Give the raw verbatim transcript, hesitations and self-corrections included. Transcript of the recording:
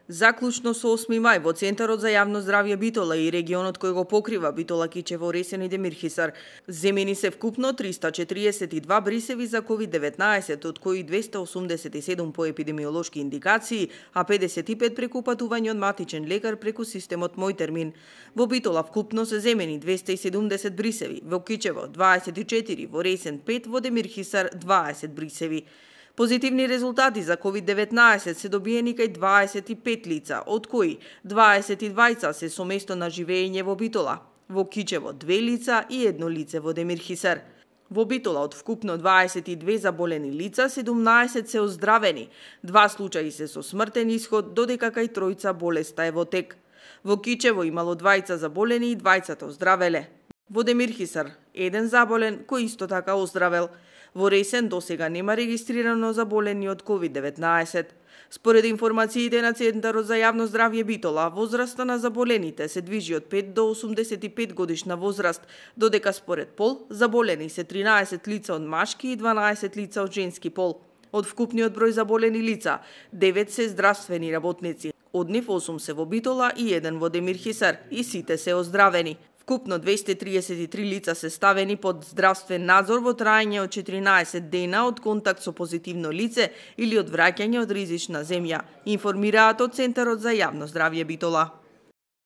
Заклучно со осми мај во Центарот за јавно здравје Битола и регионот кој го покрива Битола, Кичево, Ресен и Демирхисар, земени се вкупно триста четириесет и два брисеви за ковид деветнаесет, од кои двеста осумдесет и седум по епидемиолошки индикации, а педесет и пет преку патување од матичен лекар преку системот Мој термин. Во Битола вкупно се земени двеста и седумдесет брисеви, во Кичево дваесет и четири, во Ресен пет, во Демирхисар дваесет брисеви. Позитивни резултати за ковид деветнаесет се добиени кај дваесет и пет лица, од кои дваесет и двајца се со место на живење во Битола, во Кичево две лица и едно лице во Демирхисар. Во Битола од вкупно дваесет и две заболени лица, седумнаесет се оздравени, два случаи се со смртен исход, додека кај тројца болеста е во тек. Во Кичево имало двајца заболени и двајцата оздравеле. Во Демирхисар еден заболен кој исто така оздравел. Во Ресен досега нема регистрирано заболени од ковид деветнаесет. Според информациите на Центарот за јавно здравје Битола, возраста на заболените се движи од пет до осумдесет и пет годишна возраст, додека според пол заболени се тринаесет лица од машки и дванаесет лица од женски пол. Од вкупниот број заболени лица, девет се здравствени работници. Од нив осум се во Битола и еден во Демирхисар и сите се оздравени. Вкупно двеста триесет и три лица се ставени под здравствен надзор во траење од четиринаесет дена од контакт со позитивно лице или од враќање од ризична земја, информираат од Центарот за јавно здравје Битола.